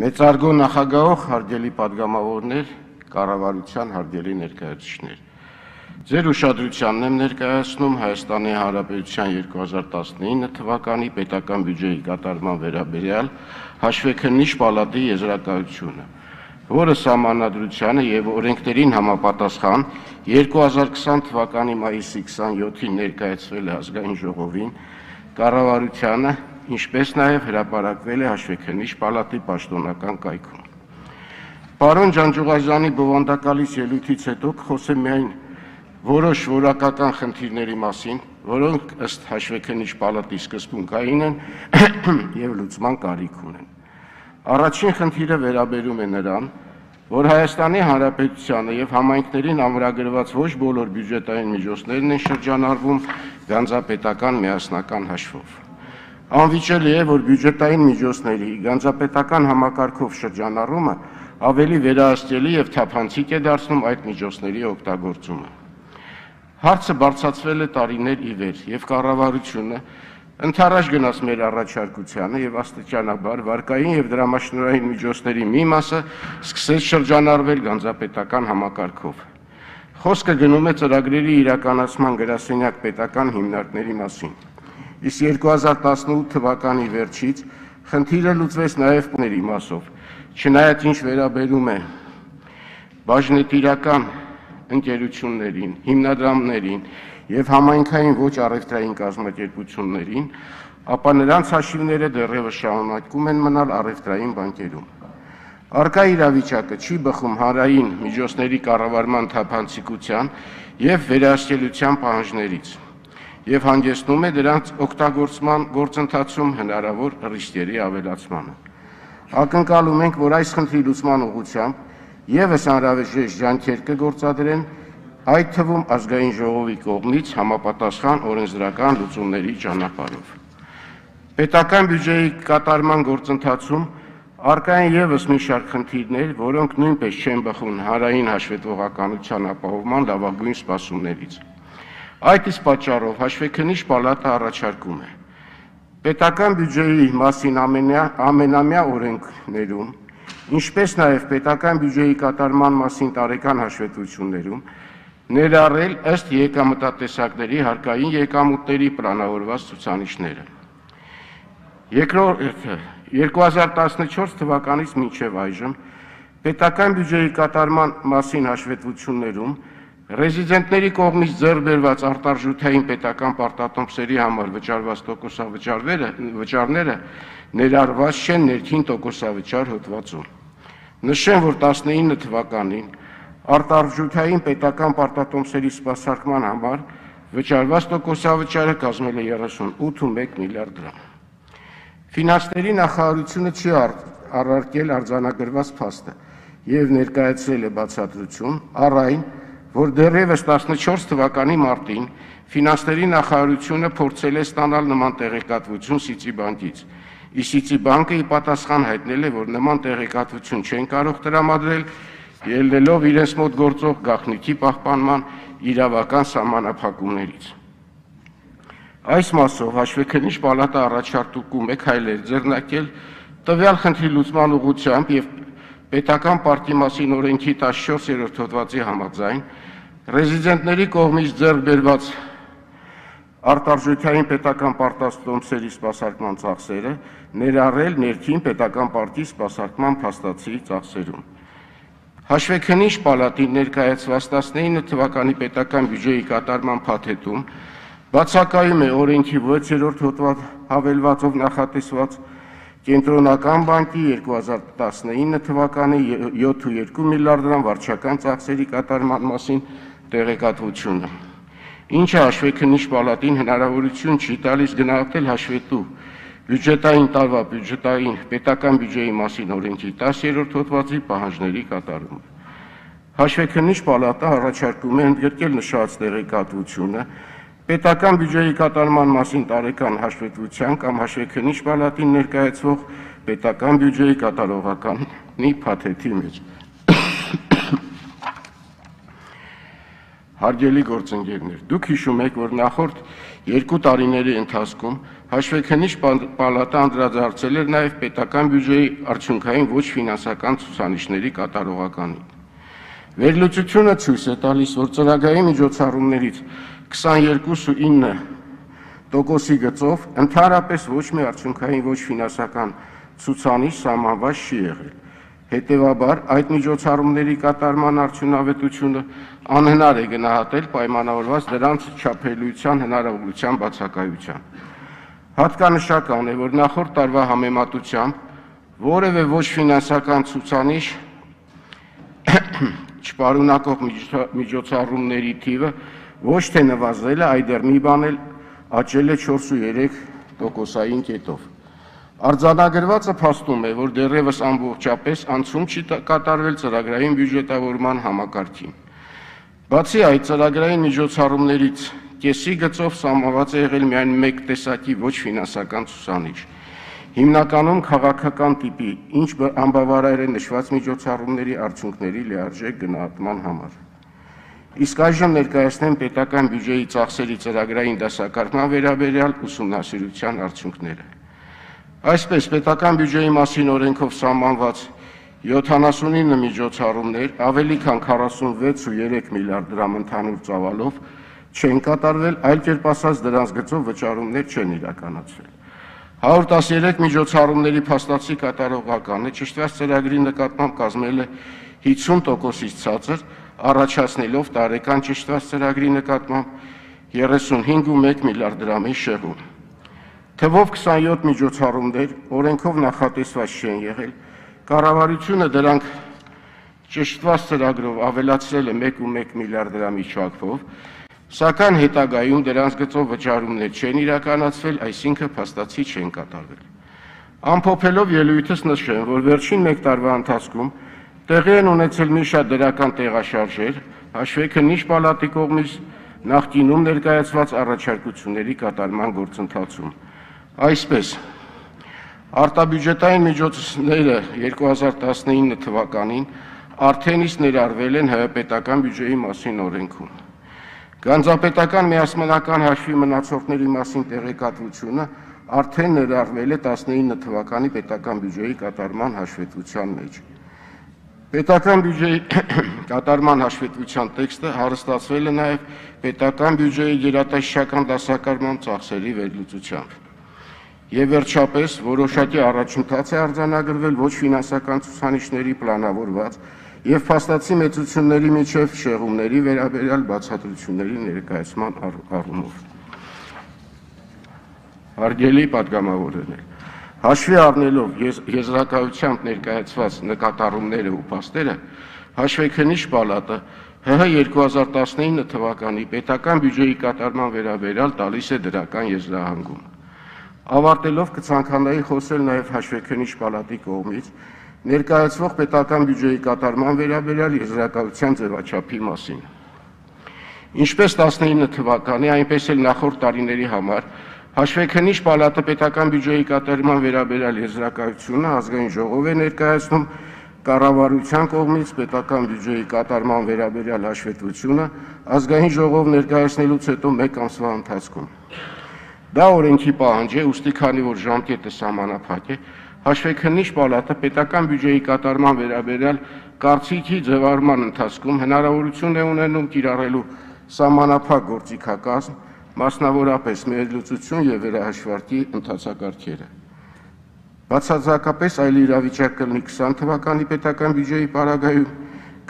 Մեծարգո նախագահող հարգելի պատգամավորներ, կառավարության հարգելի ներկայացուցիչներ։ Ձեր ուշադրությանն եմ ներկայացնում Հայաստանի Հանրապետության 2019 թվականի պետական բյուջեի կատարման վերաբերյալ հաշվեկնիչ պալատի եզրակացությունը, որը Սահմանադրությանը եւ օրենքներին համապատասխան 2020 թվականի մայիսի 27-ին ներկայացվել է ազգային ժողովին, կառավարությանը, ինչպես նաև հրապարակվել է հաշվեկնիչ պալատի պաշտոնական կայքում։ Պարոն Ջանջուղազյանի բովանդակալից ելույթից հետո կխոսեմ միայն որոշ որակական խնդիրների մասին, որոնք ըստ հաշվեկնիչ պալատի սկզբունքային են եւ լուծման կարիք ունեն։ Առաջին խնդիրը վերաբերում է նրան, որ Հայաստանի Հանրապետությանը եւ համայնքներին ամրագրված ոչ բոլոր բյուջետային միջոցներն են շրջանառվում գանձապետական միասնական հաշվով։ Անվիճելի է, որ բյուջետային միջոցների գանձապետական համակարգով շրջանառումը ավելի վերահսկելի եւ թափանցիկ է դարձնում այդ միջոցների օգտագործումը։ Հարցը բարձրացվել է տարիներ ի վեր եւ կառավարությունը ընդառաջ գնաց մեր առաջարկությանը եւ աստիճանաբար վարկային եւ դրամաշնորհային միջոցների մի մասը սկսեց շրջանառվել գանձապետական համակարգով։ Խոսքը գնում է ծրագրերի իրականացման գրասենյակ պետական հիմնարկների մասին։ Իսկ 2018 թվականի վերջից խնդիրը լուծվեց նաև ների մասով, չնայած ինչ վերաբերում է բաժնետիրական ընկերություններին, հիմնադրամներին եւ համայնքային ոչ առևտրային կազմակերպություններին, ապա նրանց հաշիվները դեռևս շարունակում են մնալ առևտրային բանկերում։ Առկա իրավիճակը չի բխում հանրային միջոցների կառավարման թափանցիկության եւ վերահսկելիության պահանջներից եւ հանգեցնում է դրանց օգտագործման գործընթացում հնարավոր ռիսկերի ավելացմանը։ Ակնկալում ենք, որ այս խնդրի լուծման ուղղությամբ եւս անհրաժեշտ ջանքեր կգործադրեն, այդ թվում ազգային ժողովի կողմից համապատասխան օրենսդրական լուծումների ճանապարհով։ Պետական բյուջեի կատարման գործընթացում առկա են եւս մի շարք խնդիրներ, որոնք նույնպես չեն բխում հանրային հաշվետվողականության ապահովման լավագույն սպասումներից։ Այդ իսկ պատճառով հաշվեկնիչ պալատը առաջարկում է պետական բյուջեի մասին ամենամյա օրենքներում, ինչպես նաև պետական բյուջեի կատարման մասին տարեկան հաշվետվություններում ներառել ըստ եկամտատեսակների հարկային եկամուտների պլանավորված ցուցանիշները։ Երկրորդը 2014 թվականից մինչև այժմ պետական բյուջեի կատարման մասին հաշվետվություններում ռեզիդենտների կողմից ձեռք բերված արտարժութային պետական պարտատոմսերի համար վճարված տոկոսավճարները ներառված չեն ներքին տոկոսավճար հոդվածում։ Նշեմ, որ 19 թվականին արտարժութային պետական պարտատոմսերի սպասարկման համար վճարված տոկոսավճարը կազմել է 38.1 միլիարդ դրամ։ Ֆինանսների նախարարությունը չի առարկել արձանագրված փաստը եւ ներկայացրել է բացատրություն առ այն, որ դեռևս 14 թվականի մարտին ֆինանսների նախարարությունը փորձել է ստանալ նման տեղեկատվություն Սիցիբանկից, իսկ Սիցիբանկը ի պատասխան հայտնել է, որ նման տեղեկատվություն չեն կարող տրամադրել, ելնելով իրենց մոտ գործող գաղտնիքի պահպանման իրավական սահմանափակումներից։ Այս մասով հաշվեկնիչ պալատը առաջարկում է քայլեր ձեռնարկել տվյալ խնդրի լուծման ուղղությամբ եւ պետական պարտի մասին օրենքի 14-րդ հոդվածի համաձայն ռեզիդենտների կողմից ձեռք բերված արտարժութային պետական պարտատոմսերի սպասարկման ծախսերը ներառել ներքին պետական պարտի սպասարկման փաստացի ծախսերում։ Հաշվեկնիչ պալատի ներկայացված 19 թվականի պետական բյուջեի կատարման փաթեթում բացակայում է օրենքի 6-րդ հոդված հավելվածով նախատեսված Կենտրոնական բանկի 2019 թվականի 7.2 միլիարդ դրամ վարչական ծախսերի կատարման մասին տեղեկատվությունը, ինչը հաշվեկնիչ պալատին հնարավորություն չի տալիս գնահատել հաշվետու բյուջետային տարվա բյուջետային պետական բյուջեի մասին օրենքի 10-րդ հոդվածի պահանջների կատարումը։ Հաշվեկնիչ պալատը առաջարկում է ընդգրկել նշված տեղեկատվությունը պետական բյուջեի կատարման մասին տարեկան հաշվետվության կամ հաշվեկնիչ պալատին ներկայացվող պետական բյուջեի կատարողականի փաթեթի մեջ։ Հարգելի գործընկերներ, դուք հիշում եք, որ նախորդ 2 տարիների ընթացքում հաշվեկնիչ պալատը անդրադարձել էր նաև պետական բյուջեի արդյունքային ոչ ֆինանսական ցուցանիշների կատարողականին։ Վերլուծությունը ցույց է տալիս, որ ծրագրային միջոցառումներից 22.9%-ի գծով ընդհանրապես ոչ մի արդյունքային ոչ ֆինանսական ցուցանիշ սահմանված չի եղել։ Հետևաբար, այդ միջոցառումների կատարման արդյունավետությունը անհնար է գնահատել պայմանավորված դրանց չափելիության հնարավորության բացակայությամբ։ Հատկանշական է, որ նախորդ տարվա համեմատությամբ որևէ ոչ ֆինանսական ցուցանիշ չպարունակող միջոցառումների թիվը ոչ թե նվազել է, այլ դեռ մի բան էլ աճել է 4.3%-ային կետով։ Արձանագրվածը փաստում է, որ դեռևս ամբողջապես անցում չի կատարվել ծրագրային բյուջետավորման համակարգին։ Բացի այդ, ծրագրային միջոցառումներից կեսի գծով սահմանված է եղել միայն մեկ տեսակի ոչ ֆինանսական ցուցանիշ, հիմնականում քաղաքական տիպի, ինչ անբավարար է նշված միջոցառումների արդյունքների լիարժեք գնահատման համար։ Իսկ այժմ ներկայացնեմ պետական բյուջեի ծախսերի ծրագրային դասակարգման վերաբերյալ ուսումնասիրության արդյունքները։ Այսպես, պետական բյուջեի մասին օրենքով սահմանված 79 միջոցառումներ, ավելի քան 46.3 միլիարդ դրամ ընդհանուր ծավալով չեն կատարվել, այլ կերպ ասած դրանց գծով վճարումներ չեն իրականացվել։ 113 միջոցառումների փաստացի կատարողականը ճշտված ծրագրի նկատմամբ կազմել է 50%-ից ցածր, առաջացնելով տարեկան ճշտված ծրագրի նկատմամբ 35.1 միլիարդ դրամի շեղում։ Թվով 27 միջոցառումներ օրենքով նախատեսված չեն եղել, կառավարությունը դրանք ճշտված ծրագրով ավելացրել է 1.1 միլիարդ դրամի չափով, սակայն հետագայում դրանց գծով վճարումներ չեն իրականացվել, այսինքն փաստացի չեն կատարվել։ Ամփոփելով ելույթս նշեմ, որ վերջին 1 տարվա ընթացքում տեղի են ունեցել մի շարք դրական տեղաշարժեր, հաշվեկնիչ պալատի կողմից նախկինում ներկայացված առաջարկությունների կատարման գործընթացում։ Այսպես, արտաբյուջետային միջոցները 2019 թվականին արդեն իսկ ներառվել են հայապետական բյուջեի մասին օրենքում։ Գանձապետական միասնական հաշվի մնացորդների մասին տեղեկատվությունը արդեն ներառվել է 19 թվականի պետական բյուջեի կատարման հաշվետվության մեջ։ Պետական բյուջեի կատարման հաշվետվության տեքստը հարստացվել է նաև պետական բյուջեի գերատեսչական դասակարգման ծախսերի վերլուծությամբ։ Եվ վերջապես որոշակի առաջընթաց է արձանագրվել ոչ ֆինանսական ցուցանիշների պլանավորված եւ փաստացի մեծությունների միջև շեղումների վերաբերյալ բացատրությունների ներկայացման առումով։ Հարգելի պատգամավորներ, հաշվի առնելով եզրակացությամբ ներկայացված նկատառումները ու փաստերը, հաշվեկնիչ պալատը ՀՀ 2019 թվականի պետական բյուջեի կատարման վերաբերյալ տալիս է դրական եզրահանգում։ Ավարտելով կցանկանայի խոսել նաև հաշվեկնիչ պալատի կողմից ներկայացվող պետական բյուջեի կատարման վերաբերյալ եզրակացության ձևաչափի մասին։ Ինչպես 19 թվականի, այնպես էլ նախորդ տարիների համար հաշվեկնիչ պալատը պետական բյուջեի կատարման վերաբերյալ եզրակացությունը ազգային ժողով է ներկայացնում կառավարության կողմից պետական բյուջեի կատարման վերաբերյալ հաշվետվությունը ազգային ժողով ներկայացնելուց հետո 1 ամսվա ընթացքում։ Դա օրենքի պահանջ է, ուստի քանի որ ժամկետը սահմանափակ է, հաշվեկնիչ պալատը պետական բյուջեի կատարման վերաբերյալ կարծիքի ձևավորման ընթացքում հնարավորություն է ունենում կիրառելու սահմանափակ գործիքակազմ, մասնավորապես վերլուծություն եւ վերահաշվարկի ընթացակարգերը։ Բացարձակապես այլ իրավիճակ կլինի 20 թվականի պետական բյուջեի պարագայում,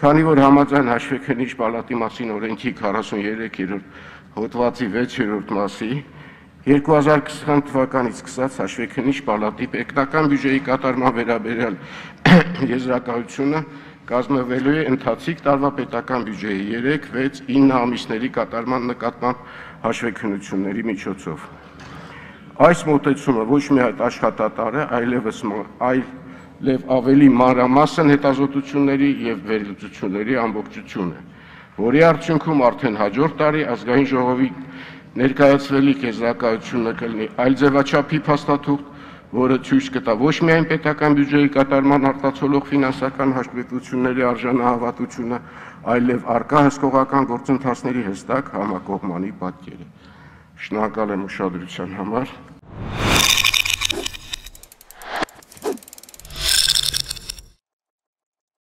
քանի որ համաձայն հաշվեկնիչ պալատի մասին օրենքի 43-րդ հոդվածի 6-րդ մասի 2020 թվականից սկսած հաշվեկնիչ պալատի պետական բյուջեի կատարման վերաբերյալ եզրակացությունը կազմվելու է ընթացիկ տարվա պետական բյուջեի 3, 6, 9 ամիսների կատարման նկատմամբ հաշվեկնությունների միջոցով։ Այս մոտեցումը ոչ միայն աշխատատար է, այլև ավելի մանրամասն հետազոտությունների եւ վերլուծությունների ամբողջություն է, որի արդյունքում արդեն հաջորդ տարի ազգային ժողովի ներկայացվելիք եզրակացությունը կլինի այլ ձևաչափի փաստաթուղթ, որը ցույց կտա ոչ միայն պետական բյուջեի կատարման արտացոլող ֆինանսական հաշվետվությունների արժանահավատությունը, այլև առկա հսկողական գործընթացների հստակ համակողմանի պատկերը։ Շնորհակալ եմ ուշադրության համար։